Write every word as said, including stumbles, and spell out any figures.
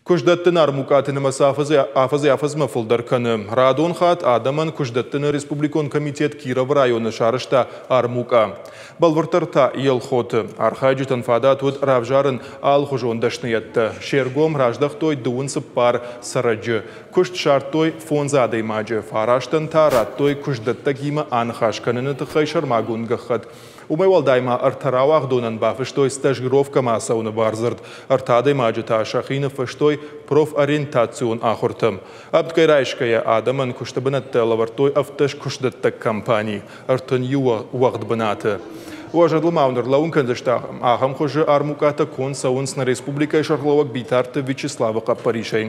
Куыстдӕттыны армукъаты нымӕц афӕдзӕй-афӕдзмӕ фылдӕр кӕны. Радон хатт адӕмӕн куыстдӕттыны республикон комитет Кировы районы сарӕзта армукъа. Бӕлвырддӕр та Елхоты. Архайджытӕн фадат уыд равзарын алыхуызон дӕсныйӕдтӕ. Се ргом раздӕхтой дыууын цыппар цӕрӕджы. Куыст ссардтой фондз адӕймаджы, фарастӕн та радтой куыстдӕттӕгимӕ аныхас кӕныны тыххӕй сӕрмагонд гӕххӕтт. Уымӕй уӕлдай ма ӕртӕ рауагъдонӕн бафыстой стажировкӕмӕ ацӕуыны бардзырд. Ӕртӕ адӕймаджы та сӕхи ныффыстой профориентацион ахуыртӕм. Ӕмткӕй райсгӕйӕ адӕмӕн куысты бынӕттӕ лӕвӕрдтой ӕвддӕс куыстдӕттӕг компани ӕртын иу уӕгъд бынаты. Уӕ зӕрдыл ма уын ӕрлӕууын кӕндзысты, ахӕм хуызы армукъатӕ конд цӕуынц нӕ республикӕйы сӕргълӕууӕг Битарты Вячеславы хъӕппӕрисӕй.